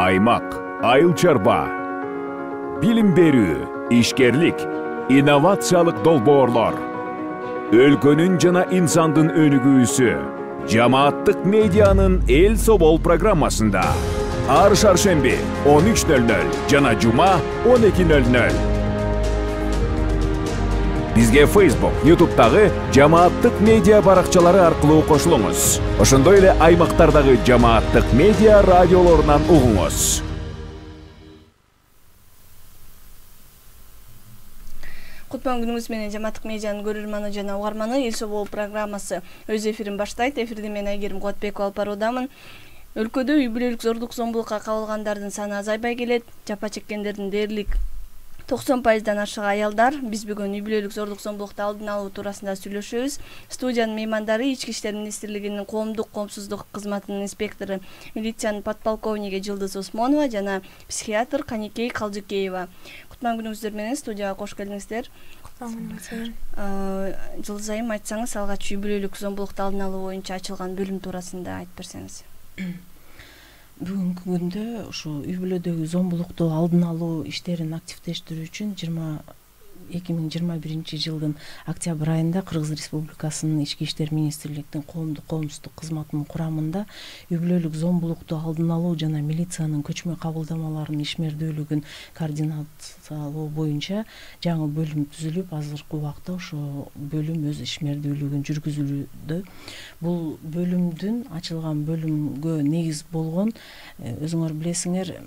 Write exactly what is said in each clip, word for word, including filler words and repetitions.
аймак, айыл чарба, билим берүү, ишкерлик, инновациялык долбоорлор, өлкөнүн жана инсандын өнүгүүсү жамааттык медианын эл собол программасында ар шаршемби он үч нөл нөл жана жума он эки нөл нөл. Бизге Facebook, YouTube'дагы жамааттык медиа баракчалары аркылуу кошулуңуз. Ошондой эле аймактардагы жамааттык медиа радиолорунан угуңуз. Кутман күнүңүз менен жамааттык медианын көрөрманы жана угарманы эл собол программасы өз эфирин баштайт. Эфирде мен Айгерим Кубатбекова алып баруудамын. Өлкөдө үй бүлөлүк зордук зомбулукка кабылгандардын саны азайбай келет. Жапа чеккендердин дээрлик токсон пайыздан ашык аялдар. Биз бүгүн үй бүлөлүк зордук зомбулукту алдын алуу туурасында сүйлөшөбүз. Студиянын меймандары Ички иштер министрлигинин коомдук коопсуздук кызматынын инспектору, милициянын подполковниги Жылдыз Осмонова жана психиатр Каникей Калжыкеева. Кутман күнүңүздөр менен студияга кош келиңиздер. Кутман күнүңүздөр. Жылдыз айым, айтсаңыз, алгач үй бүлөлүк зомбулукту алдын алуу боюнча ачылган бөлүм туурасында айтып берсеңиз. Бүгүнкү күндө ушу үй бүлөдөгү зомбулукту алдын алуу иштерин активдештирүү үчүн эки миң жыйырма биринчи жылдын октябрь айында Кыргыз Республикасынын Ички иштер министрлигинин коомдук коопсуздук кызматынын курамында үй бүлөлүк зомбулукту алдын алуу жана милициянын көчмө кабылдамаларынын ишмердүүлүгүн координациялоо боюнча жаңы бөлүм түзүлүп, азыркы убакта ошо бөлүм өз ишмердүүлүгүн жүргүзүүдө. Бул бөлүмдүн ачылган бөлүмгө негиз болгон, өзүңөр билесиңер,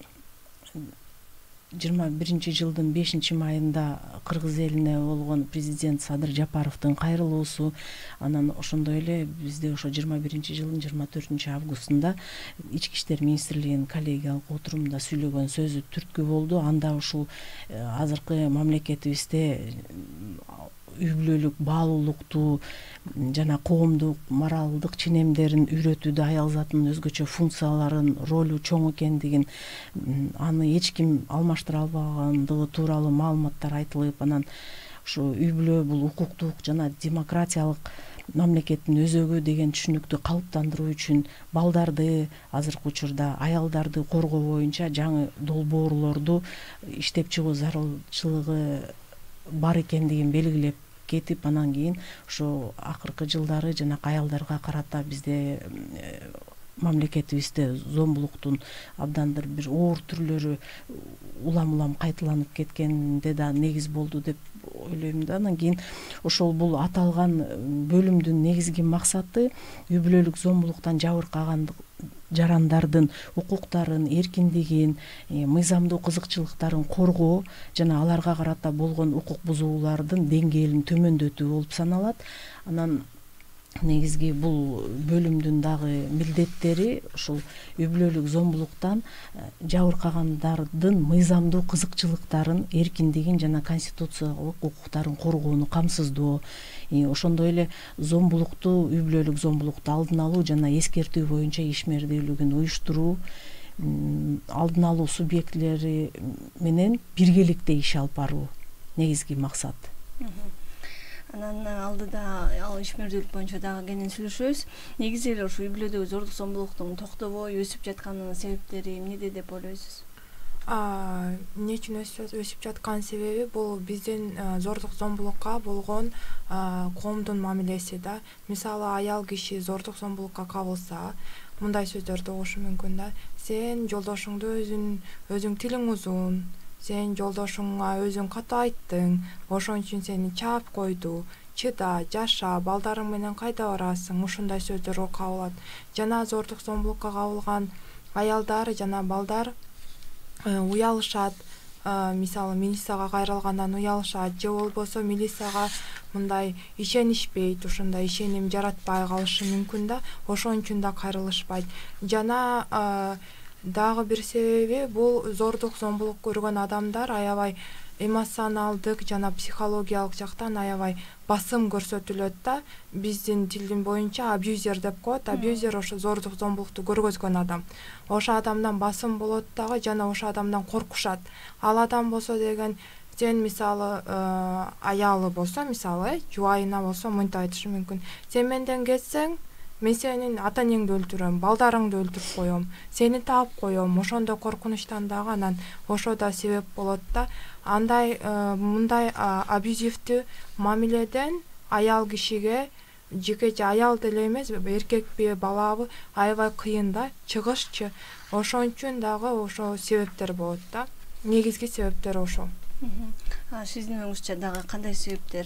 жыйырма биринчи жылдын бешинчи майында кыргыз элине болгон президент Садыр Жапаровдун кайрылуусу, анан ошондой эле бизде ошо жыйырма биринчи жылдын жыйырма төртүнчү августунда Ички иштер министрлигинин коллегиялык отурумунда сүйлөгөн сөзү түрткү болду. Анда ушул азыркы мамлекетибизде үй бүлөлүк баалуулукту жана коомдук моралдык ченемдерин үйрөтүүдө аял затынын өзгөчө функцияларын, ролу чоң экендигин, аны эч ким алмаштыра албагандыгы тууралуу маалыматтар айтылып, анан ушу үй бүлө бул укуктук жана демократиялык мамлекеттин өзөгү деген түшүнүктү калыптандыруу үчүн балдарды, азыркы учурда аялдарды коргоо боюнча жаңы долбоорлорду иштеп чыгуу зарылчылыгы бар экендигин белгилеп кетип, анан кийин ошо акыркы жылдары жанакы аялдарга карата бизде мамлекетибизде зомбулуктун абдандыр бир оор түрлөрү улам-улам кайталанып кеткенде да негиз болду деп ойлойм да. Анан кийин ошол бул аталган бөлүмдүн негизги максаты үй бүлөлүк зомбулуктан жабыркаган жарандардын укуктарын, эркиндигин, мыйзамдуу кызыкчылыктарын коргоо жана аларга карата болгон укук бузуулардын деңгээлин төмөндөтүү болуп саналат. Анан негизги бул бөлүмдүн дагы милдеттери ушул үй бүлөлүк зомбулуктан жабыркагандардын мыйзамдуу кызыкчылыктарын, эркиндигин жана конституциялык укуктарын коргоону камсыздоо. Ошондой эле зомбулукту, үй бүлөлүк зомбулукту алдын алуу жана эскертүү боюнча ишмердүүлүгүн уюштуруу, алдын алуу субъектилери менен биргеликте иш алып баруу негизги максат. Анан алдыда ал ишмердүүлүк боюнча дагы кенен сүйлөшөбүз. Негизи эле ушу үй бүлөдөгү зордук зомбулуктун токтобой өсүп жатканынын себептери эмнеде деп ойлойсуз? Эмне үчүн өсүп жаткан себеби бул биздин зордук зомбулукка болгон коомдун мамилеси да. Мисалы, аял киши зордук зомбулукка кабылса, мындай сөздөрдү угушу мүмкүн да: сен жолдошуңду өзүң өзүң тилиң узун, сен жолдошуңа өзүң ката айттың, ошон үчүн сени чаап койду, чыда, жаша, балдарың менен кайда барасың, ушундай сөздөргө кабылат. Жана зордук зомбулукка кабылган аялдар жана балдар уялышат. Мисалы, милицияга кайрылгандан уялышат, же болбосо милицияга мындай ишенишпейт, ушундай ишеним жаратпай калышы мүмкүн да, ошон үчүн да кайрылышпайт. Жана дагы бир себеби бул зордук зомбулук көргөн адамдар аябай эмоционалдык жана психологиялык жактан аябай басым көрсөтүлөт да. Биздин тилдин боюнча абьюзер деп коет. Абьюзер ошо зордук зомбулукту көргөзгөн адам. Ошо адамдан басым болот дагы, жана ошо адамдан коркушат. Ал адам болсо деген, сен мисалы аялы болсо, мисалы жубайына болсо мынтип айтышы мүмкүн: сен менден кетсең, мен сенин ата энеңди өлтүрөм, балдарыңды өлтүрүп коем, сени таап коем, ошондой коркунучтан дагы анан ошо да себеп болот да. Андай мындай абьюзивдүү мамиледен аял кишиге, жекече аял деле эмес, эркекпи, балабы аябай кыйын да чыгышчы. Ошон үчүн дагы ошо себептер болот да. Негизги себептер ошол. Сиздин оюңузча дагы кандай себептер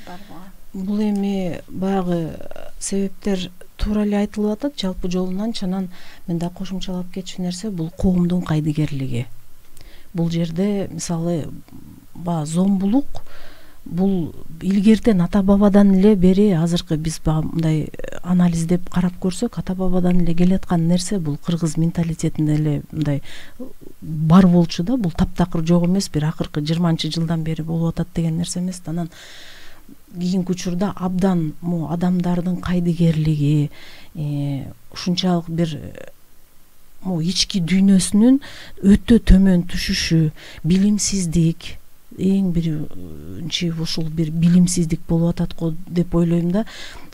бар буга? Бул эми баягы себептер туура эле айтылып атат жалпы жолунан. Чанан мен да кошумчалап кетчү нерсе бул коомдун кайдыгерлиги. Бул жерде мисалы баягы зомбулук бул илгертен ата бабадан эле бери азыркы биз мындай анализдеп карап көрсөк, ата бабадан эле келаткан нерсе бул кыргыз менталитетинде эле мындай бар болчу да. Бул таптакыр жок эмес, бир акыркы жыйырманчы жылдан бери болуп атат деген нерсе эмес. Анан кийинки учурда абдан могу адамдардын кайдыгерлиги, ушунчалык бир могу ички дүйнөсүнүн өтө төмөн түшүшү, билимсиздик, эң биринчи ушул бир билимсиздик болуп атат го деп ойлойм да.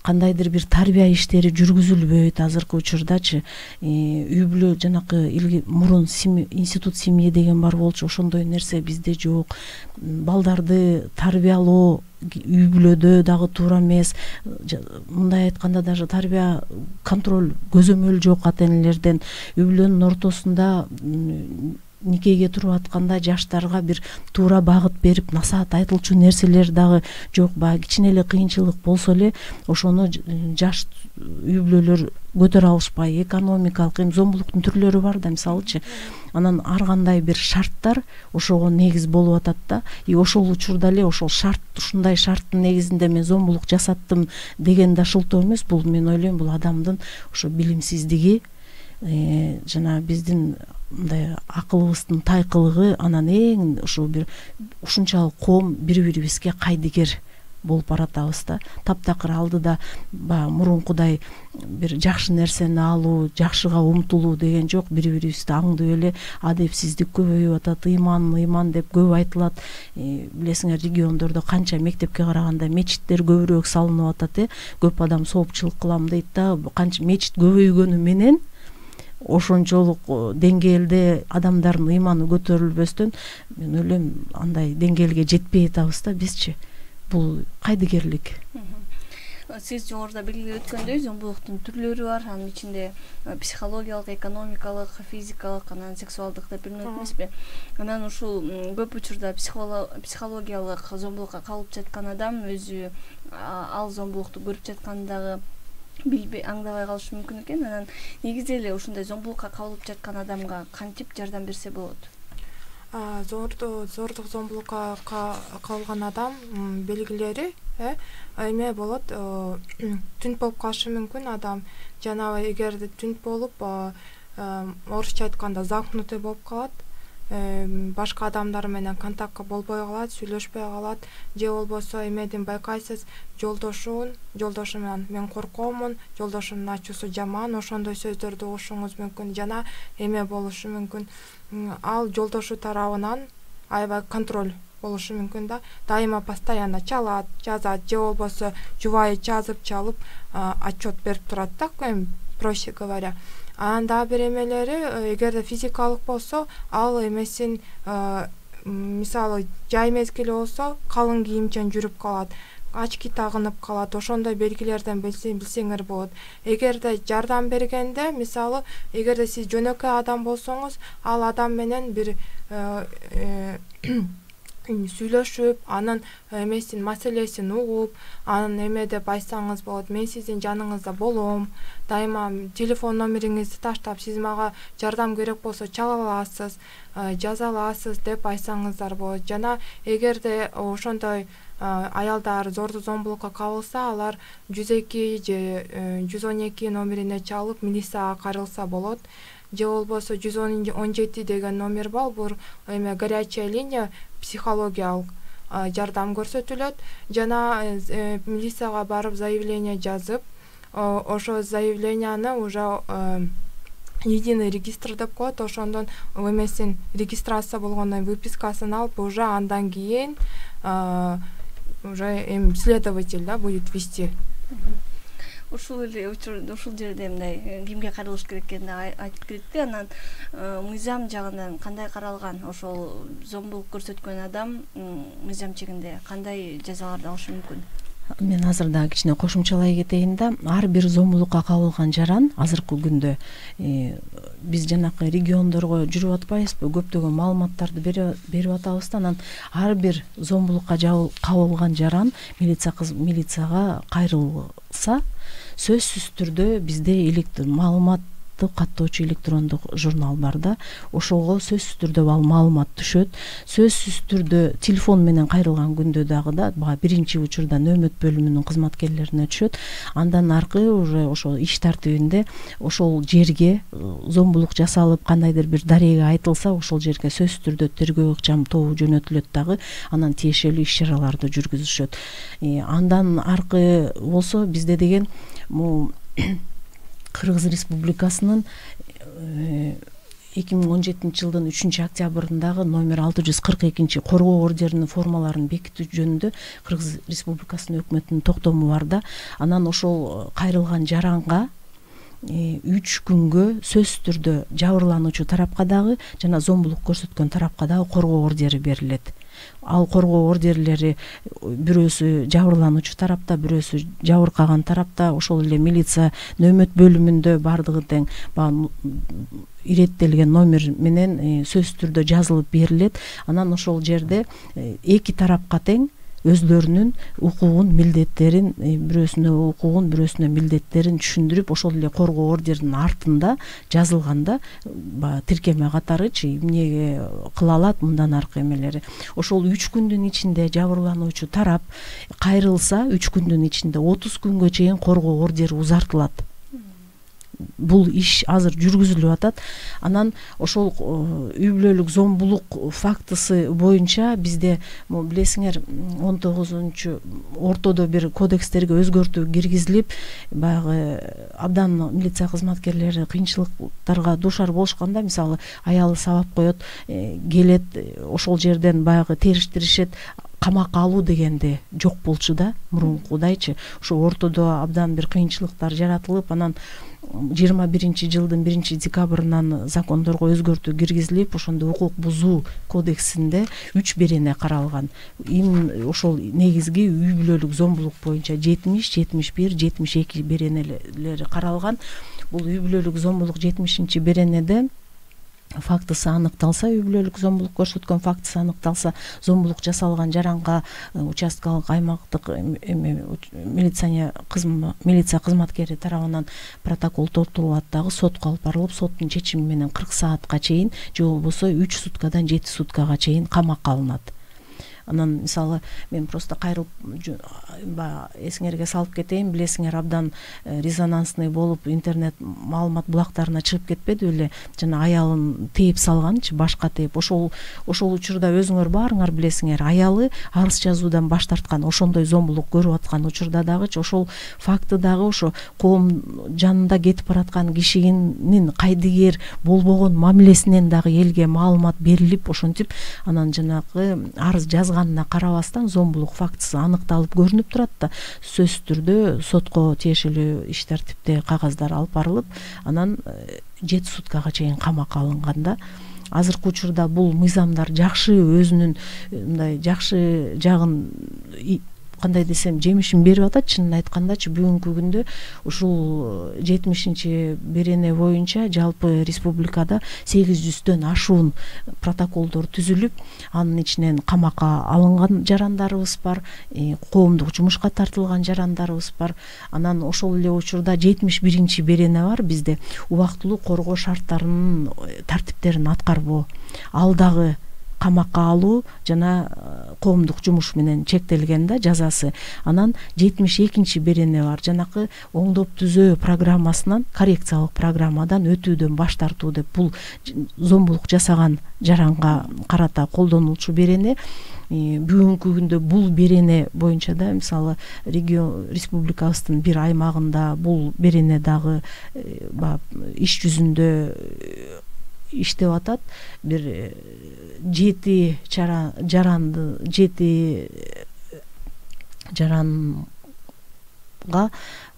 Кандайдыр бир тарбия иштери жүргүзүлбөйт азыркы учурдачы. Үй бүлө жанакы мурун институт семьи деген бар болчу, ошондой нерсе бизде жок. Балдарды тарбиялоо үй бүлөдө дагы туура эмес. Мындай айтканда даже тарбия контроль, көзөмөл жок ата энелерден. Үй бүлөнүн ортосунда никеге туруп атканда жаштарга бир туура багыт берип насаат айтылчу нерселер дагы жок. Баягы кичине эле кыйынчылык болсо эле ошону жаш үй бүлөлөр көтөрө алышпай, экономикалык эми зомбулуктун түрлөрү бар да мисалычы. Анан ар кандай бир шарттар ошого негиз болуп атат да. И ошол учурда эле ошол шарт, ушундай шарттын негизинде мен зомбулук жасаттым деген да шылтоо эмес. Бул мен ойлойм бул адамдын ошо билимсиздиги, жана биздин мындай акылыбыздын тайкылыгы. Анан эң ушул бир ушунчалык коом бири бирибизге кайдыгер болуп баратабыз да. Таптакыр алдыда баягы мурункудай бир жакшы нерсени алуу, жакшыга умтулуу деген жок. Бири бирибизди аңдып эле адепсиздик көбөйүп атат, ыйман ыйман деп көп айтылат. Билесиңер, региондордо канча мектепке караганда мечиттер көбүрөөк салынып атат, э. Көп адам соопчулук кылам дейт да. Канча мечит көбөйгөнү менен ошончолук деңгээлде адамдардын ыйманы көтөрүлбөстөн мен ойлойм андай деңгээлге жетпей атабыз да бизчи. Бул кайдыгерлик. Сиз жогоруда белгилеп өткөндөй зомбулуктун түрлөрү бар. Анын ичинде психологиялык, экономикалык, физикалык, анан сексуалдык деп бөлүнөт эмеспи? Анан ушул көп учурда психологиялык зомбулукка калып жаткан адам өзү ал зомбулукту көрүп жаткандагы билбей, аңдабай калышы мүмкүн экен. Анан негизи эле ушундай зомбулукка кабылып жаткан адамга кантип жардам берсе болот? Зордук зомбулукка кабылган адам белгилери эме болот, түнт болуп калышы мүмкүн адам. Жанагы эгерде түнт болуп, орусча айтканда замкнутый болуп калат, башка адамдар менен контактка болбой калат, сүйлөшпөй калат, же болбосо эмеден байкайсыз, жолдошун, жолдошу менен мен коркомун, жолдошумдун ачуусу жаман, ошондой сөздөрдү угушуңуз мүмкүн. Жана эме болушу мүмкүн, ал жолдошу тарабынан аябай контроль болушу мүмкүн да. Дайыма постоянно чалат, жазат, же болбосо жубайы жазып чалып отчет берип турат да, проще говоря. Анан дагы бир эмелери, эгерде физикалык болсо, ал эмесин мисалы жай мезгили болсо калың кийимчен жүрүп калат, очки тагынып калат, ошондой белгилерден билсеңер болот. Эгерде жардам бергенде, мисалы, эгерде сиз жөнөкөй адам болсоңуз, ал адам менен бир сүйлөшүп, анын эмесин, маселесин угуп, анын эме деп айтсаңыз болот, мен сиздин жаныңызда болом, дайыма телефон номериңизди таштап, сиз мага жардам керек болсо чала аласыз, жаза аласыз деп айтсаңыздар болот. Жана эгерде ошондой аялдар зордук зомбулукка кабылса, алар жүз эки же жүз он эки номерине чалып милицияга кайрылса болот. Же болбосо жүз он жети деген номер бар, бул эме горячая линия, психологиялык жардам көрсөтүлөт. Жана милицияга барып заявление жазып, ошо заявленияны уже единый регистр деп коет, ошондон эмесин регистрация болгондон выпискасын алып, уже андан кийин уже эми следователь да будет вести. ушул эле учурда ушул жерде мындай кимге каралыш керек экенин айтып кетти. Анан мыйзам жагынан кандай каралган? Ошол зомбулук көрсөткөн адам мыйзам чегинде кандай жазаларды алышы мүмкүн? Мен азыр дагы кичине кошумчалай кетейин да. Ар бир зомбулукка кабылган жаран азыркы күндө биз жанакы региондорго жүрүп атпайбызбы, көптөгөн маалыматтарды берип атабыз да. Анан ар бир зомбулукка кабылган жаран милиция милицияга кайрылса, сөзсүз түрдө бизде маалымат каттоочу электрондук журнал бар да, ошого сөзсүз түрдө ал маалымат түшөт. Сөзсүз түрдө телефон менен кайрылган күндө дагы да бага биринчи учурда нөөмөт бөлүмүнүн кызматкерлерине түшөт. Андан аркы уже ошол иш тартибинде ошол жерге зомбулук жасалып, кандайдыр бир дарега айтылса, ошол жерге сөзсүз түрдө тергөө ыкчам тобу жөнөтүлөт дагы, анан тиешелүү иш чараларды жүргүзүшөт. Андан аркы болсо бизде деген могу Кыргыз Республикасынын эки миң он жетинчи жылдын үчүнчү октябрындагы номер алты жүз кырк экинчи коргоо ордеринин формаларын бекитүү жөнүндө Кыргыз Республикасынын өкмөтүнүн токтому бар да. Анан ошол кайрылган жаранга үч күнгө сөзсүз түрдө жабырлануучу тарапка дагы жана зомбулук көрсөткөн тарапка дагы коргоо ордери берилет. Ал коргоо ордерлери бирөөсү жабырлануучу тарапта, бирөөсү жабыркаган тарапта, ошол эле милиция нөөмөт бөлүмүндө бардыгы тең баягы иреттелген номер менен сөзсүз түрдө жазылып берилет. Анан ошол жерде эки тарапка тең өзлөрүнүн укугун, милдеттерин, бирөөсүнө укугун, бирөөсүнө милдеттерин түшүндүрүп, ошол эле коргоо ордеринин артында жазылганда баягы тиркеме катарычы эмнеге кыла алат, мындан аркы эмелери. Ошол үч күндүн ичинде жабырлануучу тарап кайрылса, үч күндүн ичинде отуз күнгө чейин коргоо ордери узартылат. Бул иш азыр жүргүзүлүп атат. Анан ошол үй бүлөлүк зомбулук фактысы боюнча бизде билесиңер он тогузунчу ортодо бир кодекстерге өзгөртүү киргизилип, баягы абдан милиция кызматкерлери кыйынчылыктарга дуушар болушканда, мисалы аялы сабап коет, келет, ошол жерден баягы териштиришет, камакка алуу дегенде жок болчу да, мурункудайчы. Ошо ортодо абдан бир кыйынчылыктар жаратылып, анан жыйырма биринчи жылдын биринчи декабрынан закондорго өзгөртүү киргизилип, ошондо укук бузуу кодексинде үч берене каралган. Эми ошол негизги үй бүлөлүк зомбулук боюнча жетимиш, жетимиш бир, жетимиш эки беренелери каралган. Бул үй бүлөлүк зомбулук жетимишинчи беренеде фактысы аныкталса, үй бүлөлүк зомбулук көрсөткөн фактысы аныкталса, зомбулук жасалган жаранга участкалык аймактык милиция милиция кызматкери тарабынан протокол толтурулат дагы, сотко алып барылып, соттун чечими менен кырк саатка чейин, же болбосо үч суткадан жети суткага чейин камакка алынат. Анан мисалы мен просто кайрылып эсиңерге салып кетейин, билесиңер абдан резонансный болуп интернет маалымат булактарына чыгып кетпеди беле, жана аялын тээп салганчы, башка тээп. Ошол ошол учурда өзүңөр баарыңар билесиңер, аялы арыз жазуудан баш тарткан, ошондой зомбулук көрүп аткан учурда дагычы ошол факты дагы ошо коом жанында кетип бараткан кишинин кайдыгер болбогон мамилесинен дагы элге маалымат берилип, ошентип анан жанагы арыз жазганына карабастан зомбулук фактысы аныкталып көрүнүп турат да, сөзсүз түрдө сотко тиешелүү иш тартипте кагаздар алып барылып, анан жети суткага чейин камакка алынганда. Азыркы учурда бул мыйзамдар жакшы өзүнүн мындай жакшы жагын, кандай десем, жемишин берип атат. Чынын айткандачы бүгүнкү күндө ушул жетимишинчи берене боюнча жалпы республикада сегиз жүздөн ашуун протоколдор түзүлүп, анын ичинен камакка алынган жарандарыбыз бар, коомдук жумушка тартылган жарандарыбыз бар. Анан ошол эле учурда жетимиш биринчи берене бар бизде, убактылуу коргоо шарттарынын тартиптерин аткарбоо. Ал дагы камакка алуу жана коомдук жумуш менен чектелген да жазасы. Анан жетимиш экинчи берене бар, жанакы оңдоп түзөө программасынан, коррекциялык программадан өтүүдөн баш тартуу деп, бул зомбулук жасаган жаранга карата колдонулчу берене. Бүгүнкү күндө бул берене боюнча да, мисалы регион республикабыздын бир аймагында бул берене дагы иш жүзүндө иштеп атат. Бир жети жаранды, жаран жаран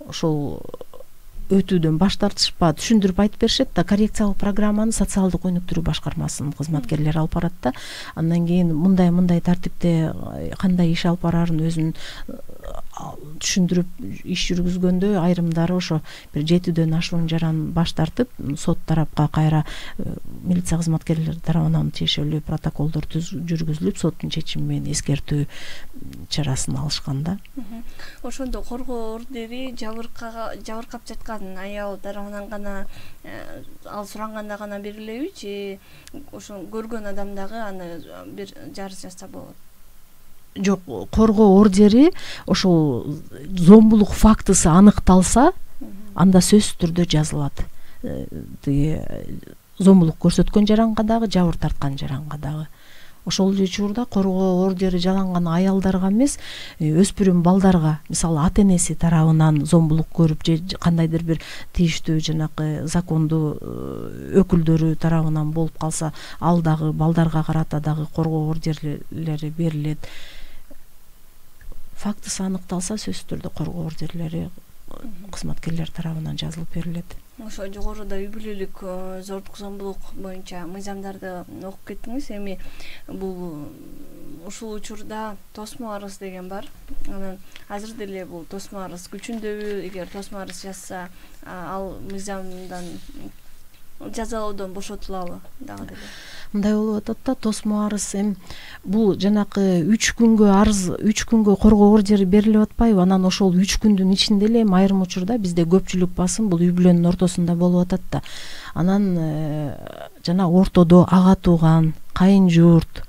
ошол өтүүдөн баш тартышпа, түшүндүрүп айтып беришет да. Коррекциялык программаны социалдык өнүктүрүү башкармасынын кызматкерлери алып барат да. Андан кийин мындай мындай тартипте кандай иш алып бараарын өзүн түшүндүрүп иш жүргүзгөндө айрымдары ошо бир жетүүдөн ашуун жаран баш тартып, сот тарапка кайра милиция кызматкерлери тарабынан тиешелүү протоколдор жүргүзүлүп, соттун чечими менен эскертүү чарасын алышкан да. Ошондо коргоо ордери жабыркага жабыркап жаткан аял тарабынан гана, ал суранганда гана берилеби же ошо көргөн адам дагы аны бир жарыш жазса болот? Жок, коргоо ордери ошол зомбулук фактысы аныкталса, анда сөзсүз түрдө жазылат. Тиги зомбулук көрсөткөн жаранга дагы, жабыр тарткан жаранга дагы. Ошол учурда коргоо ордери жаланган аялдарга эмес, өспүрүм балдарга, мисалы ата-энеси тарабынан зомбулук көрүп же кандайдыр бир тийиштүү жанакы закондуу өкүлдөрү тарабынан болуп калса, ал дагы балдарга карата дагы коргоо ордерлери берилет. Фактысы аныкталса, сөзсүз түрдө коргоо ордерлери кызматкерлер тарабынан жазылып берилет. Ошо жогоруда үй бүлөлүк зордук зомбулук боюнча мыйзамдарды окуп кеттиңиз. Эми бул ушул учурда тосмо арыз деген бар. Анан азыр деле бул тосмо арыз күчүндөбү? Эгер тосмо арыз жазса, ал мыйзамдан жазалоодон бошотулабы дагы деле? Мындай болуп атат да, тосмо арыз эми бул жанакы үч күнгө арыз, үч күнгө коргоо ордери берилип атпайбы? Анан ошол үч күндүн ичинде эле айрым учурда бизде көпчүлүк басым бул үй бүлөнүн ортосунда болуп атат да. Анан жана ортодо ага тууган, кайын журт,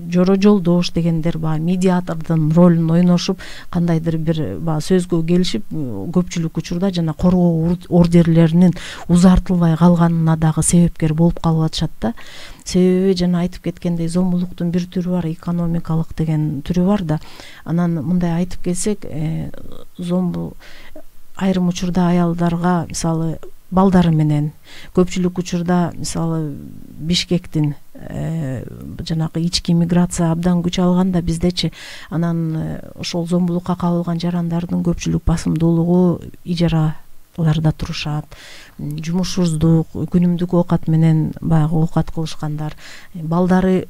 жоро жолдош дегендер баягы медиатордун ролун ойношуп, кандайдыр бир баягы сөзгө келишип, көпчүлүк учурда жана коргоо ордерлеринин узартылбай калганына дагы себепкер болуп калып атышат да. Себеби жана айтып кеткендей, зомбулуктун бир түрү бар, экономикалык деген түрү бар да. Анан мындай айтып келсек, зомбу айрым учурда аялдарга, мисалы балдары менен, көпчүлүк учурда мисалы Бишкектин жанагы ички миграция абдан күч алганда биздечи, анан ошол зомбулукка кабылган жарандардын көпчүлүк басымдуулугу ижараларда турушат, жумушсуздук, күнүмдүк оокат менен баягы оокат кылышкандар, балдары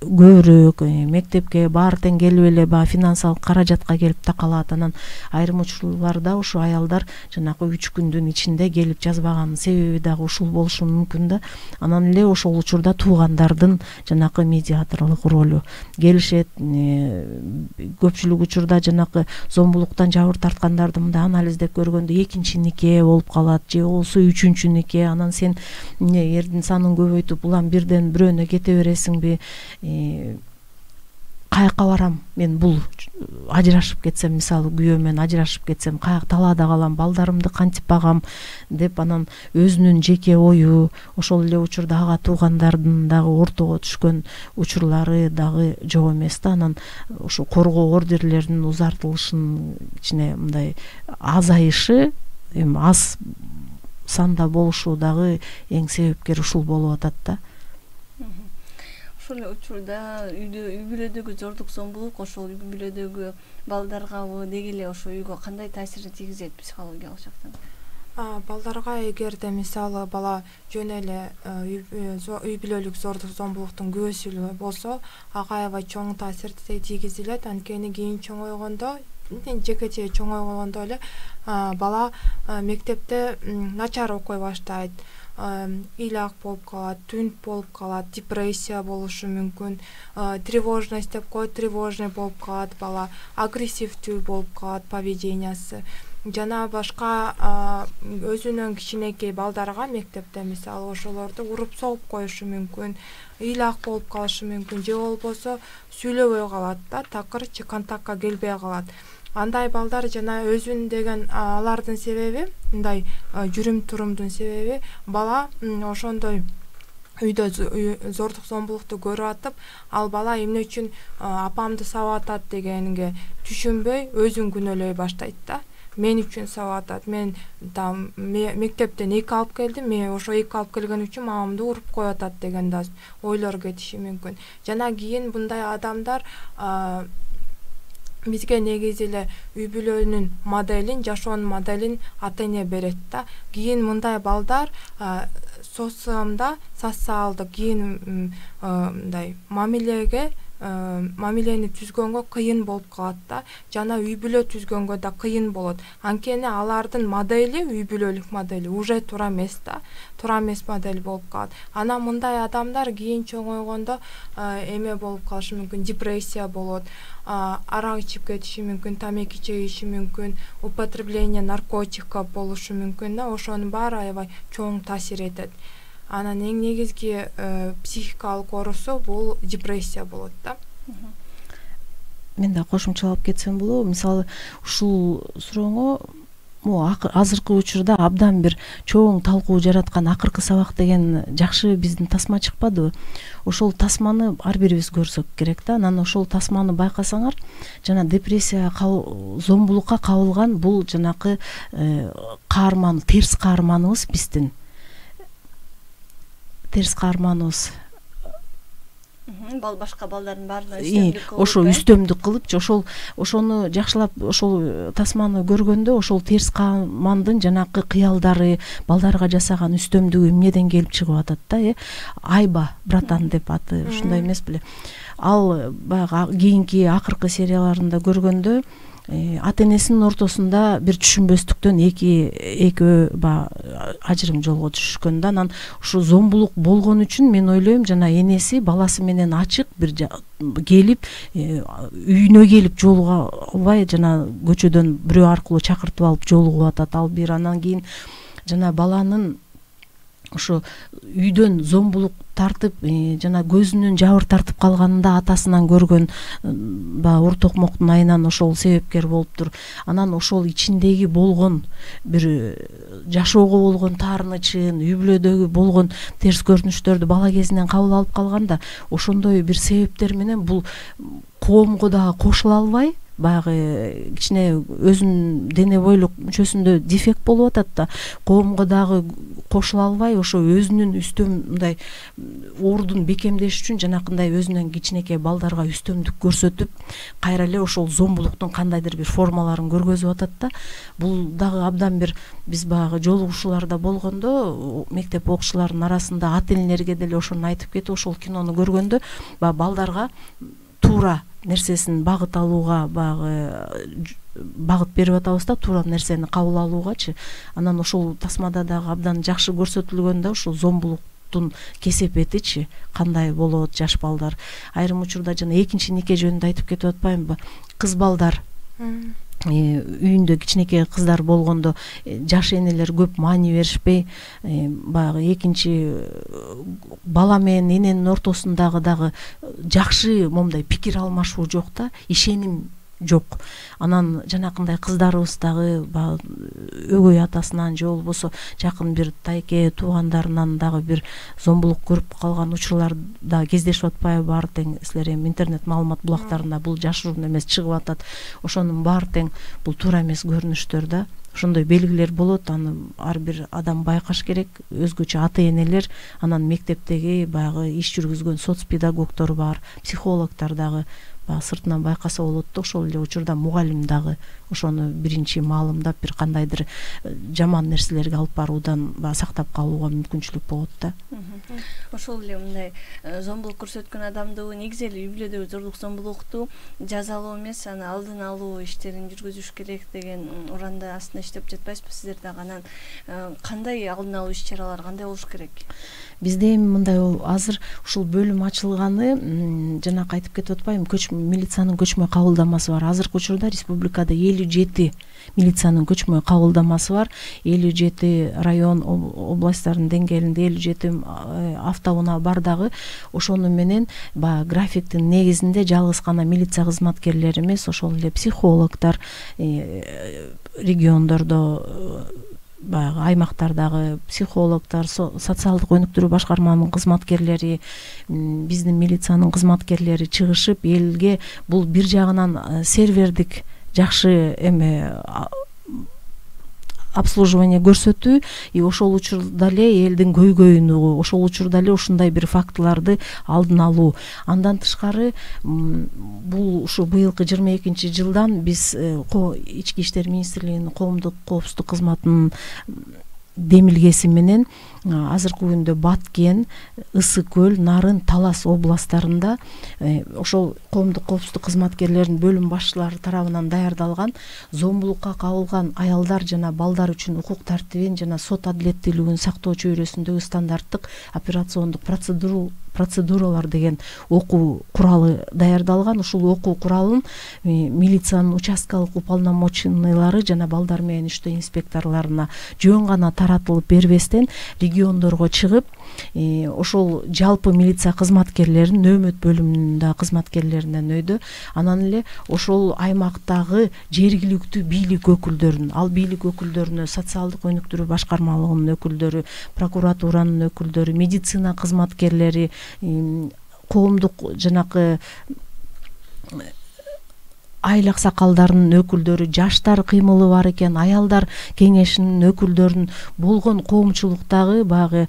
көбүрөөк мектепке баары тең келип эле баягы финансылык каражатка келип такалат. Анан айрым учурларда ушу аялдар жанагы үч күндүн ичинде келип жазбаганын себеби дагы ушул болушу мүмкүн да. Анан эле ошол учурда туугандардын жанакы медиаторлук ролу келишет. Көпчүлүк учурда жанакы зомбулуктан жабыр тарткандарды мындай анализдеп көргөндө экинчи нике болуп калат же болбосо үчүнчү нике. Анан сен эрдин санын көбөйтүп улам бирден бирөөнө кете бересиңби? Каякка барам мен, бул ажырашып кетсем, мисалы күйөө менен ажырашып кетсем, каяк талаада калам, балдарымды кантип багам деп, анан өзүнүн жеке ою, ошол эле учурда ага туугандардын дагы ортого түшкөн учурлары дагы жок эмес да. Анан ошо коргоо ордерлеринин узартылышынын ичине мындай азайышы, эми аз санда болушу дагы эң себепкер ушул болуп атат да. Ошол учурда үйдө, үй бүлөдөгү зордук зомбулук ошол үй бүлөдөгү балдаргабы, деги эле ошо үйгө кандай таасирин тийгизет психологиялык жактан? Балдарга эгерде мисалы бала жөн эле үй бүлөлүк зордук зомбулуктун күбөсү болсо, ага аябай чоң таасир тийгизилет. Анткени кийин чоңойгондо, жекече чоңойгондо эле бала мектепте начар окуй баштайт, ыйлак болуп калат, түнт болуп калат, депрессия болушу мүмкүн, тревожность деп коет, тревожный болуп калат бала, агрессивдүү болуп калат поведениясы. Жана башка өзүнүн кичинекей балдарга мектепте мисалы ошолорду уруп согуп коюшу мүмкүн, ыйлак болуп калышы мүмкүн, же болбосо сүйлөбөй калат да, такыр контактка келбей калат. Андай балдар жана өзүн деген алардын себеби, мындай жүрүм турумдун себеби бала ошондой үйдө зордук зомбулукту көрүп атып, ал бала эмне үчүн апамды сабап атат дегенге түшүнбөй өзүн күнөөлөй баштайт да. Мен үчүн сабап атат, мен там мектептен эки алып келдим, мен ошо эки алып келген үчүн мамамды уруп коюп атат деген да ойлор кетиши мүмкүн. Жана кийин мындай адамдар бизге негизи эле үй бүлөнүн моделин, жашоонун моделин ата эне берет да. Кийин мындай балдар социумда социалдык кийин мындай мамилеге мамилени түзгөнгө кыйын болуп калат да. Жана үй бүлө түзгөнгө да кыйын болот. Анткени алардын модели, үй бүлөлүк модели уже туура эмес да. Туура эмес модель болуп калат. Анан мындай адамдар кийин чоңойгондо эме болуп калышы мүмкүн, депрессия болот, арак ичип кетиши мүмкүн, тамеки чегиши мүмкүн, употребление наркотиков болушу мүмкүн да. Ошонун баары аябай чоң таасир этет. Анан эң негизги психикалык оорусу бул депрессия болот да. Мен да кошумчалап кетсем болобу? Мисалы, ушул сурооңо азыркы учурда абдан бир чоң талкуу жараткан акыркы сабак деген жакшы биздин тасма чыкпадыбы? Ошол тасманы ар бирибиз көрсөк керек да. Анан ошол тасманы байкасаңар, жана депрессия, зомбулукка кабылган бул жанакы каарман, терс каарманыбыз биздин. Терс каарманыбыз. Бал башка балдардын баарына үстөмдүк кылып. Ошо үстөмдүк кылып, ошол ошону жакшылап ошол тасманы көргөндө ошол терс каармандын жанакы кыялдары, балдарга жасаган үстөмдүгү эмнеден келип чыгып атат да, э? Айба, братан деп аты, ушундай эмес беле. Ал баягы кийинки акыркы серияларында көргөндө ата энесинин ортосунда бир түшүнбөстүктөн эки экөө баягы ажырым жолго түшүшкөн да. Анан ушу зомбулук болгон үчүн мен ойлойм, жана энеси баласы менен ачык бир келип үйүнө келип жолуга албай, жана көчөдөн бирөө аркылуу чакыртып алып жолугуп атат. Ал бир анан кийин жана баланын ошо үйдөн зомбулук тартып, жана көзүнүн жабыр тартып калганында атасынан көргөн баягы ур токмоктун айынан ошол себепкер болуптур. Анан ошол ичиндеги болгон бир жашоого болгон таарынычын, үй бүлөдөгү болгон терс көрүнүштөрдү бала кезинен кабыл алып калганда, ошондой бир себептер менен бул коомго дагы кошула албай, баягы кичине өзүнүн дене бойлук мүчөсүндө дефект болуп атат да, коомго дагы кошула албай, ошо өзүнүн үстөм мындай ордун бекемдеш үчүн жанакындай өзүнөн кичинекей балдарга үстөмдүк көрсөтүп, кайра эле ошол зомбулуктун кандайдыр бир формаларын көргөзүп атат да. Бул дагы абдан бир биз баягы жолугушууларда болгондо, мектеп окуучуларынын арасында ата энелерге деле ошону айтып кетип, ошол кинону көргөндө баягы балдарга туура нерсесин багыт алууга баягы багыт берип атабыз да, туура нерсени кабыл алуугачы. Анан ошол тасмада дагы абдан жакшы көрсөтүлгөн да, ошол зомбулуктун кесепетичи кандай болот жаш балдар. Айрым учурда жана экинчи нике жөнүндө айтып кетип атпаймынбы? Кыз балдар үйүндө кичинекей кыздар болгондо жаш энелер көп маани беришпей, баягы экинчи бала менен эненин ортосундагы дагы жакшы момундай пикир алмашуу жок да, ишеним жок. Анан жанакындай кыздарыбыз дагы өгөй атасынан же болбосо жакын бир тайке туугандарынан дагы бир зомбулук көрүп калган учурларда кездешип атпайбы? Баары тең силер эми интернет маалымат булактарында бул жашыруун эмес чыгып атат. Ошонун баары тең бул туура эмес көрүнүштөр да. Ошондой белгилер болот, аны ар бир адам байкаш керек. Өзгөчө ата энелер, анан мектептеги баягы иш жүргүзгөн соц педагогдор бар, психологдор дагы сыртынан байкаса болот да. Ошол эле учурда мугалим дагы ошону биринчи маалымдап, бир кандайдыр жаман нерселерге алып баруудан сактап калууга мүмкүнчүлүк болот да. Ошол эле мындай зомбулук көрсөткөн адамды негизи эле үй бүлөдөгү зордук зомбулукту жазалоо эмес, аны алдын алуу иштерин жүргүзүш керек деген уранда астында иштеп жатпайсызбы сиздер дагы? Анан кандай алдын алуу иш чаралары кандай болуш керек? Бизде эми мындай азыр ушул бөлүм ачылганы, жанакы айтып кетип атпаймынбы, көчмө милициянын көчмө кабылдамасы бар. Азыркы учурда республикада элүү жети милициянын көчмө кабылдамасы бар. элүү жети район областтардын деңгээлинде элүү жети автоунаа бар дагы. Ошону менен баягы графиктин негизинде жалгыз гана милиция кызматкерлери эмес, ошол эле психологдор, региондордо баягы аймактардагы психологдор, социалдык өнүктүрүү башкарманын кызматкерлери, биздин милициянын кызматкерлери чыгышып, элге бул бир жагынан сервердик жакшы эме обслуживание көрсөтүү, и ошол учурда эле элдин көйгөйүн угуу, ошол учурда эле ушундай бир фактыларды алдын алуу. Андан тышкары бул ушу быйылкы жыйырма экинчи жылдан биз Ички иштер министрлигинин коомдук коопсуздук кызматынын демилгеси менен азыркы күндө Баткен, Ысык көл, Нарын, Талас областтарында ошол коомдук коопсуздук кызматкерлеринин бөлүм башчылары тарабынан даярдалган зомбулукка кабылган аялдар жана балдар үчүн укук тартибин жана сот адилеттүүлүгүн сактоо чөйрөсүндөгү стандарттык операциондук процедуру процедуралар деген окуу куралы даярдалган. Ушул окуу куралын милициянын участкалык уполномоченныйлары жана балдар менен иштөө инспекторлоруна жөн гана таратылып бербестен региондорго чыгып, ошол жалпы милиция кызматкерлерин нөөмөт бөлүмүндө кызматкерлеринен өйдө, анан эле ошол аймактагы жергиликтүү бийлик өкүлдөрүн, ал бийлик өкүлдөрүнө социалдык өнүктүрүү башкармалыгынын өкүлдөрү, прокуратуранын өкүлдөрү, медицина кызматкерлери, коомдук жанакы айыл аксакалдарынын өкүлдөрү, жаштар кыймылы бар экен, аялдар кеңешинин өкүлдөрүн болгон коомчулуктагы баягы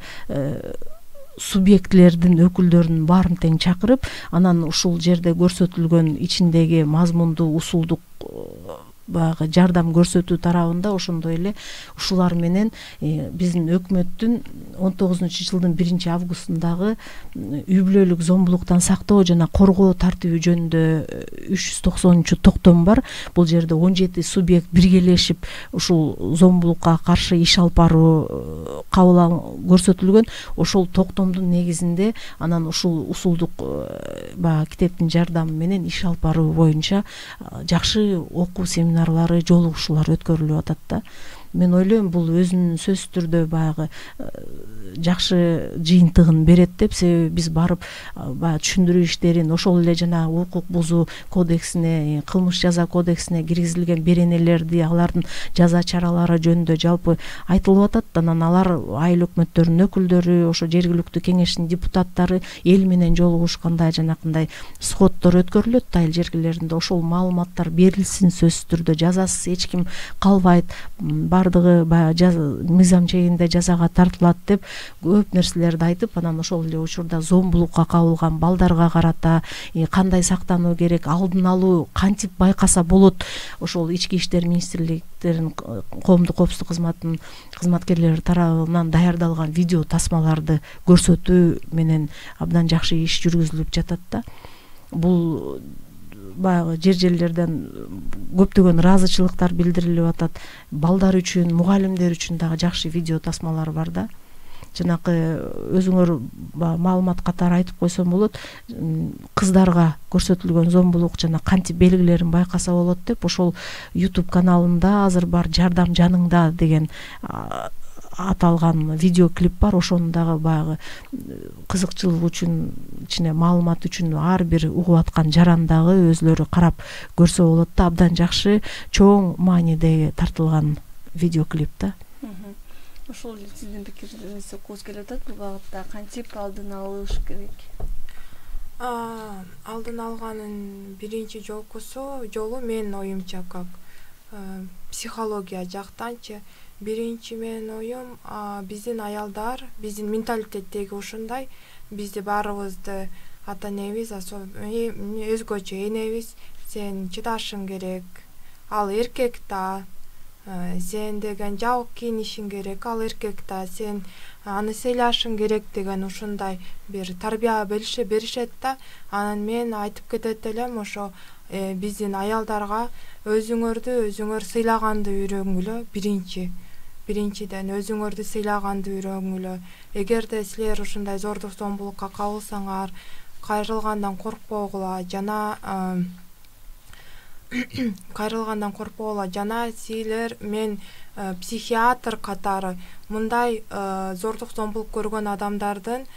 субъектлердин өкүлдөрүн баарын тең чакырып, анан ушул жерде көрсөтүлгөн ичиндеги мазмундуу усулдук баягы жардам көрсөтүү тарабында ошондой эле ушулар менен биздин өкмөттүн он тогузунчу жылдын биринчи августундагы үй бүлөлүк зомбулуктан сактоо жана коргоо тартиби жөнүндө үч жүз токсонунчу токтом бар. Бул жерде он жети субъект биргелешип ушул зомбулукка каршы иш алып баруу кабыл көрсөтүлгөн. Ошол токтомдун негизинде анан ушул усулдук баягы китептин жардамы менен иш алып баруу боюнча жакшы окуу семинарлары, жолугушуулар өткөрүлүп атат да. Мен ойлойм, бул өзүнүн сөзсүз түрдө баягы жакшы жыйынтыгын берет деп, себеби биз барып баягы түшүндүрүү иштерин, ошол эле жана укук бузуу кодексине, кылмыш жаза кодексине киргизилген беренелерди, алардын жаза чаралары жөнүндө жалпы айтылып атат. Анан алар айыл өкмөттөрүнүн өкүлдөрү, ошо жергиликтүү кеңештин депутаттары эл менен жолугушканда жанакындай сходдор өткөрүлөт айыл жергилеринде. Ошол маалыматтар берилсин сөзсүз түрдө, жазасыз эч ким калбайт, бардыгы баягы мыйзам чегинде жазага тартылат деп көп нерселерди айтып, анан ошол эле учурда зомбулукка кабылган балдарга карата кандай сактануу керек, алдын алуу кантип байкаса болот, ошол ички иштер министрликтеринин коомдук коопсуздук кызматынын кызматкерлери тарабынан даярдалган видео тасмаларды көрсөтүү менен абдан жакшы иш жүргүзүлүп жатат да. Бул баягы жер жерлерден көптөгөн ыраазычылыктар билдирилип атат. Балдар үчүн, мугалимдер үчүн дагы жакшы видео тасмалар бар да. Жанакы өзүңөр маалымат катары айтып койсом болот, кыздарга көрсөтүлгөн зомбулук жана кантип белгилерин байкаса болот деп, ошол YouTube каналында азыр бар «Жардам жаныңда» деген аталган видеоклип бар. Ошону дагы баягы кызыкчылык үчүн, ичине маалымат үчүн ар бир угуп аткан жарандагы өзлөрү карап көрсө болот да. Абдан жакшы, чоң мааниде тартылган видеоклип да. Ошол сиздин пикириңизди окугубуз келип атат. Бул багытта кантип алдын алыш керек? Алдын алганын биринчи жолкусу жолу менин оюмча, как психология жактанчы, биринчи менин оюм, биздин аялдар, биздин менталитеттеги ушундай, бизди баарыбызды ата энебиз, өзгөчө энебиз, сен чыдашың керек, ал эркек да, сен деген жабык кийинишиң керек, ал эркек да, сен аны сыйлашың керек деген ушундай бир тарбия беришет да. Анан мен айтып кетет элем, ошо биздин аялдарга өзүңөрдү өзүңөр сыйлаганды үйрөнгүлө. Биринчи биринчиден өзүңөрдү сыйлаганды үйрөнгүлө. Эгерде силер ушундай зордук зомбулукка кабылсаңар, кайрылгандан коркпогула жана кайрылгандан коркпогула жана силер, мен психиатр катары мындай зордук зомбулук көргөн адамдардын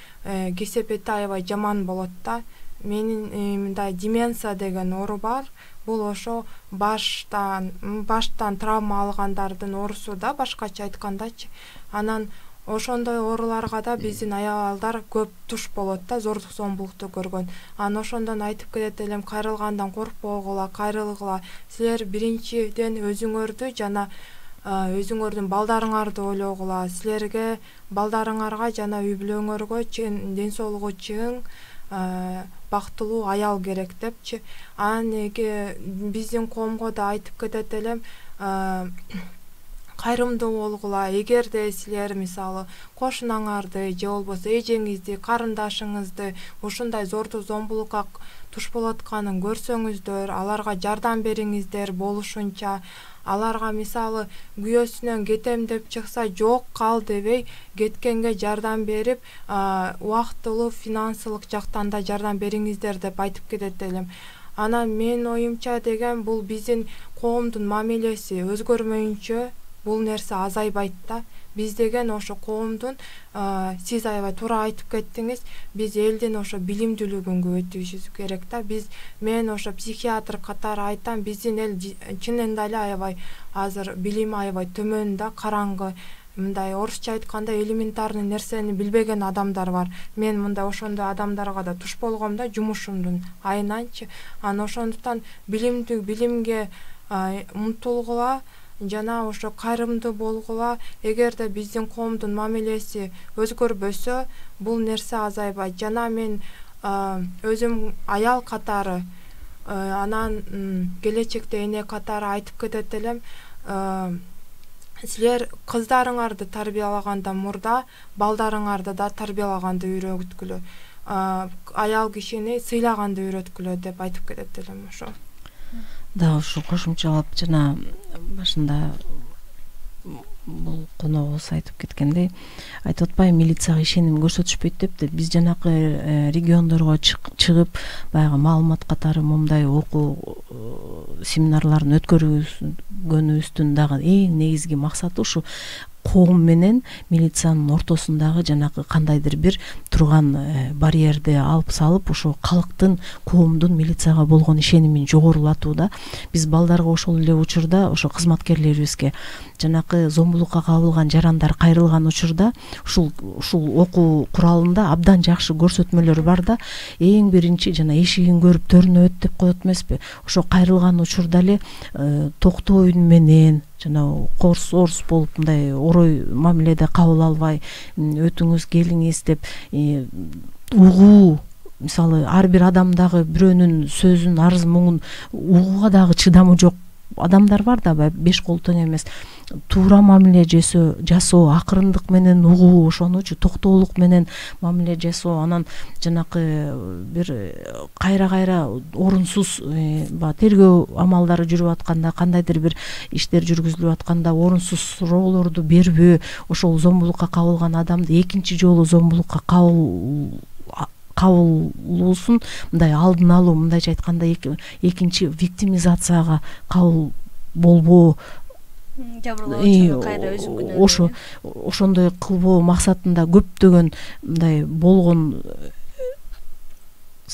кесепети аябай жаман болот да. Менин мындай деменция деген оору бар. Бул ошо баштан баштан травма алгандардын оорусу да, башкача айткандачы. Анан ошондой ооруларга да биздин аялдар көп туш болот да, зордук зомбулукту көргөн. Анан ошондон айтып кетет элем, кайрылгандан коркпогула, кайрылгыла. Силер биринчиден өзүңөрдү жана өзүңөрдүн балдарыңарды ойлогула, силерге, балдарыңарга жана үй бүлөңөргө чын ден соолугу чың, бактылуу аял керек депчи. Анан эге биздин коомго да айтып кетет элем, кайрымдуу болгула. Эгерде силер мисалы кошунаңарды же болбосо эжеңизди, карындашыңызды ушундай зордук зомбулукка туш болуп атканын көрсөңүздөр, аларга жардам бериңиздер болушунча. Аларга мисалы күйөөсүнөн кетем деп чыкса, жок кал дебей, кеткенге жардам берип, убактылуу финансылык жактан да жардам бериңиздер деп айтып кетет элем. Анан менин оюмча деген бул биздин коомдун мамилеси өзгөрмөйүнчө бул нерсе азайбайт да. Биз деген ошо коомдун, сиз аябай туура айтып кеттиңиз, биз элдин ошо билимдүүлүгүн көбөйтүшүбүз керек да. Биз мен ошо психиатр катары айтам, биздин эл чынында эле аябай азыр билими аябай төмөн да, караңгы. Мындай орусча айтканда элементарный нерсени билбеген адамдар бар. Мен мындай ошондой адамдарга да туш болгом да, жумушумдун айынан,чы. Анан ошондуктан билимдүү билимге умтулгула, жана ошо кайрымдуу болгула. Эгерде биздин коомдун мамилеси өзгөрбөсө, бул нерсе азайбайт. Жана мен өзүм аял катары, анан келечекте эне катары айтып кетет элем, силер кыздарыңарды тарбиялаганда мурда балдарыңарды да тарбиялаганды үйрөткүлө, аял кишини сыйлаганды үйрөткүлө деп айтып кетет элем. Ошо да ушу кошумчалап жана башында бул коногубуз айтып кеткендей, айтып атпайбы, милицияга ишеним көрсөтүшпөйт деп. Биз жанакы региондорго чыгып, баягы маалымат катары момундай окуу семинарларын өткөргөнүбүздүн дагы эң негизги максаты ушу коом менен милициянын ортосундагы жанакы кандайдыр бир турган барьерди алып салып, ошо калктын коомдун милицияга болгон ишенимин жогорулатуу да. Биз балдарга ошол эле учурда, ошо кызматкерлерибизге жанакы зомбулукка кабылган жарандар кайрылган учурда ушул ушул окуу куралында абдан жакшы көрсөтмөлөр бар да. Эң биринчи жана эшигин көрүп төрүнө өт деп коет эмеспи. Ошо кайрылган учурда эле токтоо үн менен жана корс орус болуп мындай орой мамиледе кабыл албай, өтүңүз келиңиз деп угуу, мисалы ар бир адамдагы бирөөнүн сөзүн, арыз муңун угууга дагы чыдамы жок адамдар бар да, беш кол тең эмес. Туура мамиле жасоо, жасоо, акырындык менен угуу, ошонучу токтоолук менен мамиле жасоо. Анан жанакы бир кайра-кайра орунсуз баягы тергөө амалдары жүрүп атканда, кандайдыр бир иштер жүргүзүлүп атканда орунсуз суроолорду бербөө, ошол зомбулукка кабылган адамды экинчи жолу зомбулукка кабыл кабылуусун мындай алдын алуу, мындайча айтканда экинчи виктимизацияга кабыл болбоо, жабырлоочуну кайра өзүнүн күнөөнү ошо ошондой кылбоо максатында көптөгөн мындай болгон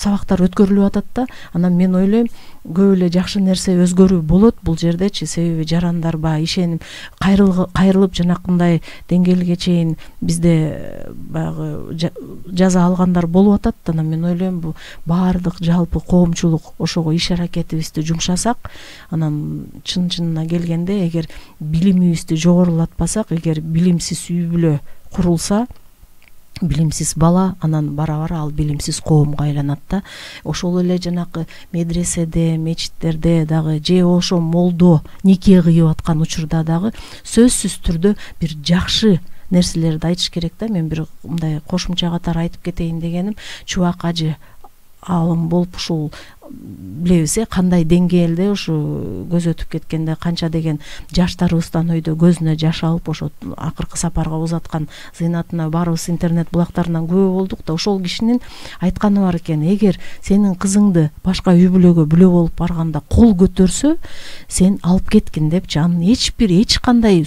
сабактар өткөрүлүп атат да. Анан мен ойлойм, көп эле жакшы нерсе өзгөрүү болот бул жердечи. Себеби жарандар баягы ишеним кайрылып жанакындай деңгээлге чейин бизде баягы жаза алгандар болуп атат. Анан мен ойлойм, бул баардык жалпы коомчулук ошого иш аракетибизди жумшасак, анан чын-чынына келгенде эгер билимибизди жогорулатпасак, эгер билимсиз үй бүлө курулса, билимсиз бала, анан бара-бара ал билимсиз коомго айланат да. Ошол эле жанакы медреседе, мечиттерде дагы же ошо молдо нике кыйып аткан учурда дагы сөзсүз түрдө бир жакшы нерселерди айтыш керек да. Мен бир мындай кошумча катары айтып кетейин дегеним, Чубак ажы алым болуп ушул билебиз э кандай деңгээлде ушу көз өтүп кеткенде канча деген жаштарыбыздан өйдө көзүнө жаш алып ошо акыркы сапарга узаткан зыйнатына баарыбыз интернет булактарынан күбө болдук да. Ошол кишинин айтканы бар экен: эгер сенин кызыңды башка үй бүлөгө бүлө болуп барганда кол көтөрсө, сен алып кеткин депчи. Анын эч бир эч кандай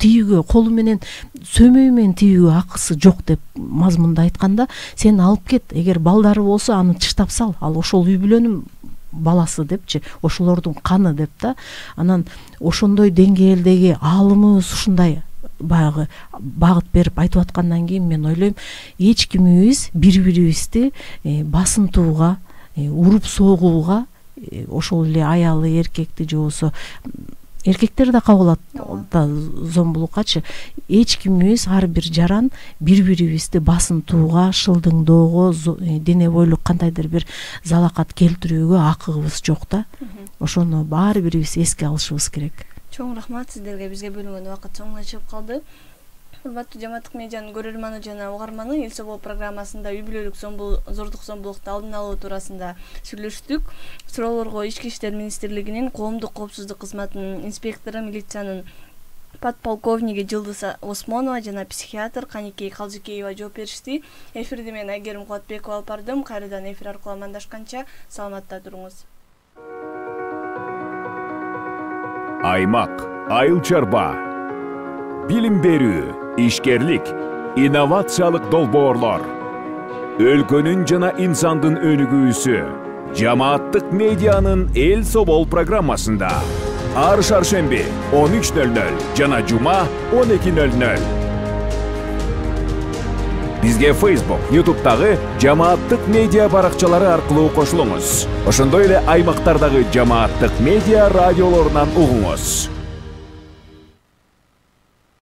тийүүгө, колу менен сөмөй менен тийүүгө акысы жок деп мазмунда айтканда, сен алып кет. Эгер балдары болсо, аны тыштап сал, ал ошол үй бүлөнүн баласы депчи, ошолордун каны деп да. Анан ошондой деңгээлдеги аалымыбыз ушундай баягы багыт берип айтып аткандан кийин мен ойлойм, эч кимибиз бири-бирибизди басынтууга, уруп согууга, ошол эле аялы, эркекти же болбосо эркектер да кабылат да зомбулуккачы. Эч кимибиз, ар бир жаран бири бирибизди басынтууга, шылдыңдоого, дене бойлук кандайдыр бир залакат келтирүүгө акыгыбыз жок да. Ошону баары бирибиз эске алышыбыз керек. Чоң рахмат сиздерге, бизге бөлүнгөн убакыт соңуна чыгып калды. Урматтуу Жамааттык медианын көрөрманы жана угарманы, эл собоо программасында үй бүлөлүк зордук зомбулукту алдын алуу туурасында сүйлөштүк. Суроолорго Ички иштер министрлигинин коомдук коопсуздук кызматынын инспектору, милициянын подполковниги Жылдыз Осмонова жана психиатр Каникей Калжыкеева жооп беришти. Эфирди мен Айгерим Кубатбекова алып бардым. Кайрадан эфир аркылуу амандашканча саламатта туруңуз. Аймак, айыл чарба, билим берүү, ишкерлик, инновациялык долбоорлор. Өлкөнүн жана инсандын өнүгүүсү Жамааттык медианын Эл Собол программасында. Ар шаршемби он үч нөл нөл жана жума он эки нөл нөл. Бизге Facebook, YouTube'дагы Жамааттык медиа баракчалары аркылуу кошулуңуз. Ошондой эле аймактардагы Жамааттык медиа радиолорунан угуңуз.